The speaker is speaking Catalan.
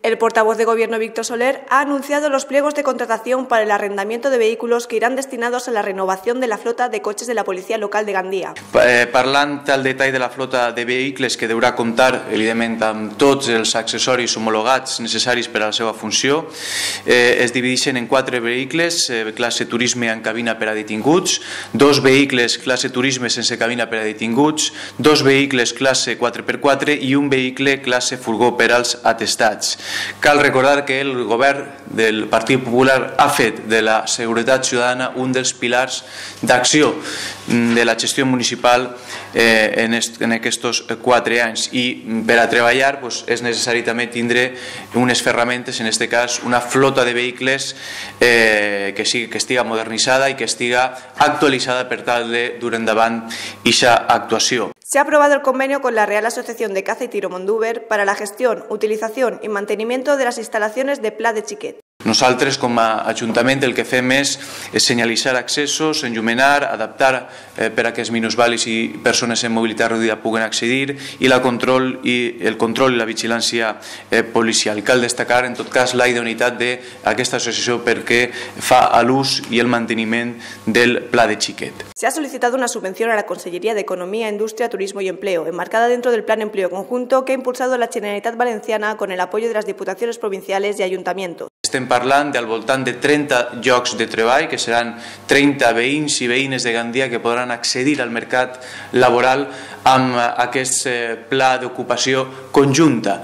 El portavoz de Gobierno, Víctor Soler, ha anunciado los pliegos de contratación para el arrendamiento de vehículos que irán destinados a la renovación de la flota de coches de la Policia Local de Gandia. Parlant al detall de la flota de vehicles que deurà comptar, evidentment, amb tots els accessoris homologats necessaris per a la seva funció, es divideixen en 4 vehicles, classe turisme amb cabina per a detinguts, 2 vehicles classe turisme sense cabina per a detinguts, 2 vehicles classe 4x4 i un vehicle classe furgó per als atestats. Cal recordar que el govern del Partit Popular ha fet de la seguretat ciutadana un dels pilars d'acció de la gestió municipal en aquests 4 anys i per a treballar és necessari també tindre unes ferramentes, en aquest cas una flota de vehicles que estiga modernitzada i que estiga actualitzada per tal de dur endavant aquesta actuació. Se ha aprobado el convenio con la Real Asociación de Caza y Tiro Mondúber para la gestión, utilización y mantenimiento de las instalaciones de Pla de Xiquet. Nosaltres, com a Ajuntament, el que fem és senyalitzar accessos, enllumenar, adaptar per a que els minusvàlids i persones amb mobilitat reduïda puguen accedir i el control i la vigilància policial. Cal destacar, en tot cas, la idoneïtat d'aquesta associació perquè fa l'ús i el manteniment del Pla de Xiquet. Se ha solicitado una subvención a la Consellería de Economía, Industria, Turismo y Empleo, enmarcada dentro del Plan Empleo Conjunto que ha impulsado la Generalitat Valenciana con el apoyo de las diputaciones provinciales y ayuntamientos. Estem parlant del voltant de 30 llocs de treball, que seran 30 veïns i veïnes de Gandia que podran accedir al mercat laboral amb aquest pla d'ocupació conjunta.